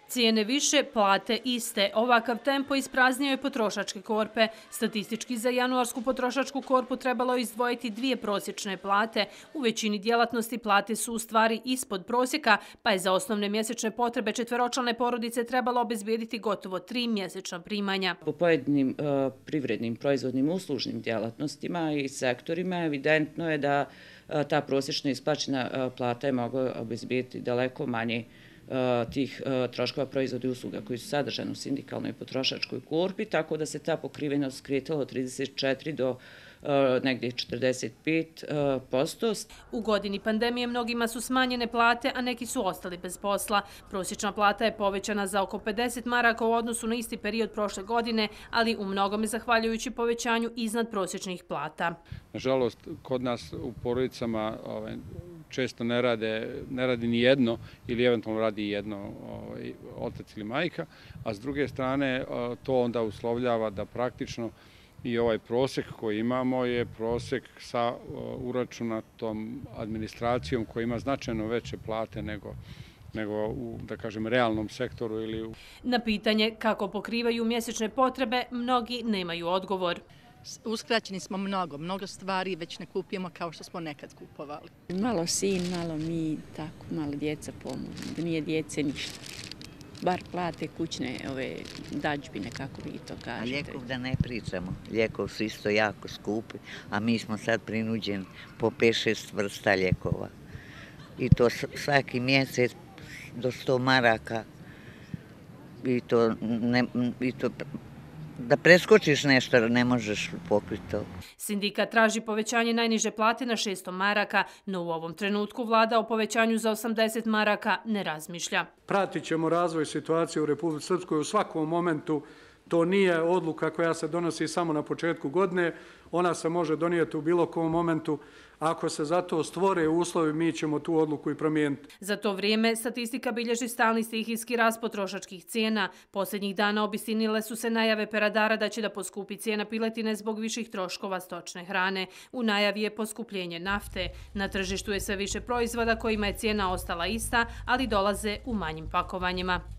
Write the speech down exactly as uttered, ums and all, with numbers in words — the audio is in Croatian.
Cijene više, plate iste. Ovakav tempo ispraznio je potrošačke korpe. Statistički za januarsku potrošačku korpu trebalo je izdvojiti dvije prosječne plate. U većini djelatnosti plate su u stvari ispod prosjeka, pa je za osnovne mjesečne potrebe četveročlane porodice trebalo obezbijediti gotovo tri mjesečna primanja. Po pojedinim uh, privrednim, proizvodnim, uslužnim djelatnostima i sektorima evidentno je da uh, ta prosječna isplaćena uh, plata je mogla obezbijediti daleko manje tih troškova proizvoda i usluga koji su sadržani u sindikalnoj potrošačkoj korpi, tako da se ta pokrivenost kretala od trideset četiri do negdje četrdeset pet posto. U godini pandemije mnogima su smanjene plate, a neki su ostali bez posla. Prosječna plata je povećana za oko pedeset maraka u odnosu na isti period prošle godine, ali u mnogome zahvaljujući povećanju iznad prosječnih plata. Nažalost, kod nas u porodicama ovaj, često ne, rade, ne radi ni jedno ili eventualno radi jedno ovaj, otac ili majka, a s druge strane to onda uslovljava da praktično i ovaj prosjek koji imamo je prosjek sa uračunatom administracijom koja ima značajno veće plate nego nego u, da kažem, realnom sektoru ili u... Na pitanje kako pokrivaju mjesečne potrebe, mnogi nemaju odgovor. Uskraćeni smo mnogo, mnogo stvari već ne kupujemo kao što smo nekad kupovali. Malo sin, malo mi, tako, malo djeca pomogu, da nije djece ništa. Bar plate kućne ove dađbine, kako vi to kažete. A lijekov da ne pričamo. Lijekov su isto jako skupi, a mi smo sad prinuđeni po pet šest vrsta lijekova. I to svaki mjesec do sto maraka. I to, ne, i to da preskočiš nešto, ne možeš pokriti to. Sindikat traži povećanje najniže plate na šesto maraka, no u ovom trenutku vlada o povećanju za osamdeset maraka ne razmišlja. Pratit ćemo razvoj situacije u Republici Srpskoj u svakom momentu. To nije odluka koja se donosi samo na početku godine. Ona se može donijeti u bilo kom momentu. Ako se za to stvore uslovi, mi ćemo tu odluku i promijeniti. Za to vrijeme statistika bilježi stalni stihijski rast potrošačkih cijena. Posljednjih dana obistinile su se najave peradara da će da poskupi cijena piletine zbog viših troškova stočne hrane. U najavi je poskupljenje nafte. Na tržištu je sve više proizvoda kojima je cijena ostala ista, ali dolaze u manjim pakovanjima.